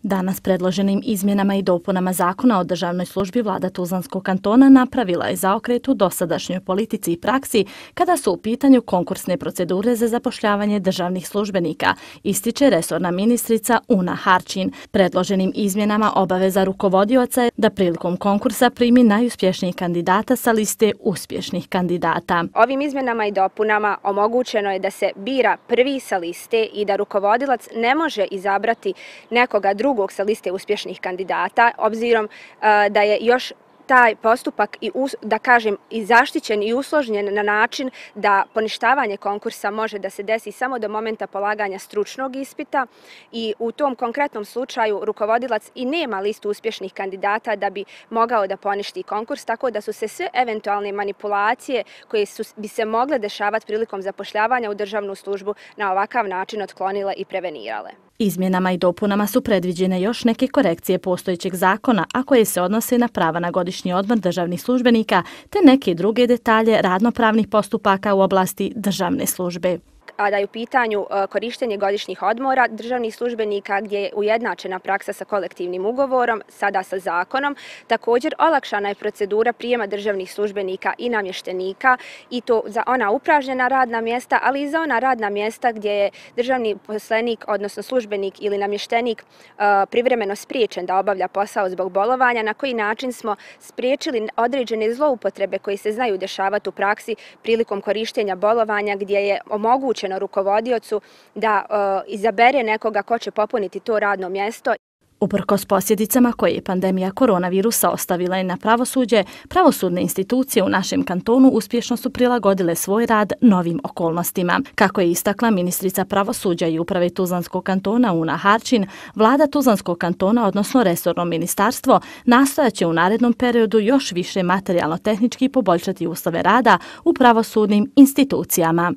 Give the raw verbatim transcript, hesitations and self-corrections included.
Danas predloženim izmjenama i dopunama Zakona o državnoj službi vlada Tuzlanskog kantona napravila je zaokret u dosadašnjoj politici i praksi kada su u pitanju konkursne procedure za zapošljavanje državnih službenika, ističe resorna ministrica Una Harčin. Predloženim izmjenama obaveza rukovodioca je da prilikom konkursa primi najuspješnijih kandidata sa liste uspješnih kandidata. Ovim izmjenama i dopunama omogućeno je da se bira prvi sa liste i da rukovodilac ne može izabrati nekoga drugog drugog sa liste uspješnih kandidata, obzirom da je još taj postupak i da kažem i zaštićen i usložnjen na način da poništavanje konkursa može da se desi samo do momenta polaganja stručnog ispita i u tom konkretnom slučaju rukovodilac i nema listu uspješnih kandidata da bi mogao da poništi konkurs, tako da su se sve eventualne manipulacije koje su, bi se mogle dešavati prilikom zapošljavanja u državnu službu na ovakav način otklonile i prevenirale. Izmjenama i dopunama su predviđene još neke korekcije postojećeg zakona, a koje se odnose na prava na godišnji odmor državnih službenika te neke druge detalje radnopravnih postupaka u oblasti državne službe. A da je u pitanju korištenje godišnjih odmora državnih službenika gdje je ujednačena praksa sa kolektivnim ugovorom, sada sa zakonom. Također olakšana je procedura prijema državnih službenika i namještenika i to za ona upražnjena radna mjesta, ali i za ona radna mjesta gdje je državni poslenik, odnosno službenik ili namještenik privremeno spriječen da obavlja posao zbog bolovanja, na koji način smo spriječili određene zloupotrebe koje se znaju dešavati u praksi prilikom korištenja bolovanja gdje je omogućeno rukovodiocu da uh, izabere nekoga ko će popuniti to radno mjesto. Uprkos posljedicama koje je pandemija koronavirusa ostavila i na pravosuđe, pravosudne institucije u našem kantonu uspješno su prilagodile svoj rad novim okolnostima. Kako je istakla ministrica pravosuđa i uprave Tuzlanskog kantona Una Harčin, vlada Tuzlanskog kantona, odnosno resorno ministarstvo, nastojaće u narednom periodu još više materijalno-tehnički poboljšati uslove rada u pravosudnim institucijama.